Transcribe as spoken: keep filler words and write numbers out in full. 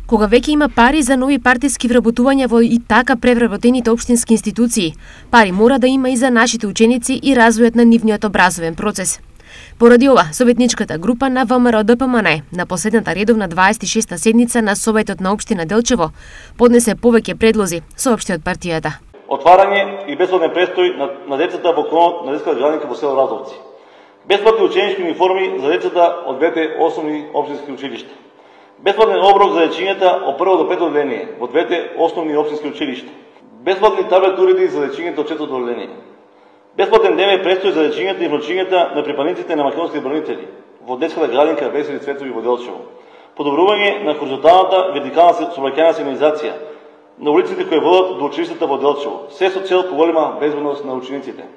Кога веќе има пари за нови партиски вработувања во и така превработените општински институции, пари мора да има и за нашите ученици и развојот на нивниот образовен процес. Поради ова, советничката група на ВМРО-ДПМН на последната редовна дваесет и шеста седница на Советот на општина Делчево поднесе повеќе предлози, соопшти од партијата. Отварање и бесплатен престој на, на децата во клонот на детската градинка во село Разовци. Бесплатни ученички униформи за децата од двете основни општински училишта. Бесплатен оброк за дечињата од прво до пето одделение во двете основни општински училишта. Бесплатни таблет уреди за дечињата од четврто одделение. Бесплатен дневен престој за дечињата и внучињата на припадниците на македонски бранители во детската градинка Весели Цветови во Делчево. Подобрување на хоризонталната вертикална сообраќајна сигнализација на улиците кои водат до училиштата во Делчево, се со цел поголема безбедност на учениците.